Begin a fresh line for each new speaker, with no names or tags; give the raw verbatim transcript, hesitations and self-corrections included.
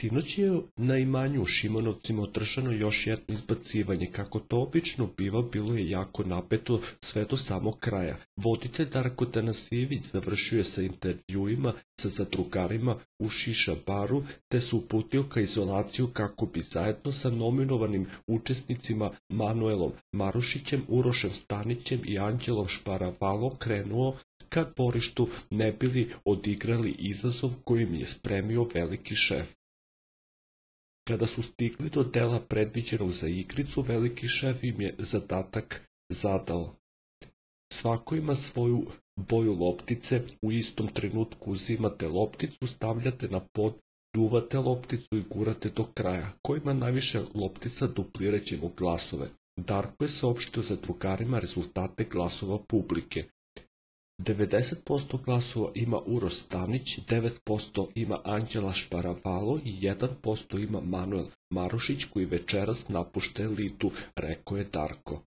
Sinoć je na imanju u Šimonovcima održano još jedno izbacivanje. Kako to obično biva, bilo je jako napeto sve do samog kraja. Voditelj Darko Tanasijević završio je sa intervjuima sa zadrugarima u Šiša baru, te se uputio ka izolaciju kako bi zajedno sa nominovanim učesnicima Manuelom Marušićem, Urošem Stanićem i Anđelom Šparavalom krenuo ka dvorištu, ne bili odigrali izazov kojim je spremio veliki šef. Kada su stigli do dela predviđenog za igricu, veliki šef im je zadatak zadao. Svako ima svoju boju loptice, u istom trenutku uzimate lopticu, stavljate na pod, duvate lopticu i gurate do kraja. Ko ima najviše loptica, duplirat ćemo glasove. Darko je saopštio zadrugarima rezultate glasova publike. devedeset posto glasova ima Uroš Stanić, devet posto ima Anđela Šparavalo i jedan posto ima Manuel Marušić, koji večeras napušta elitu, rekao je Darko.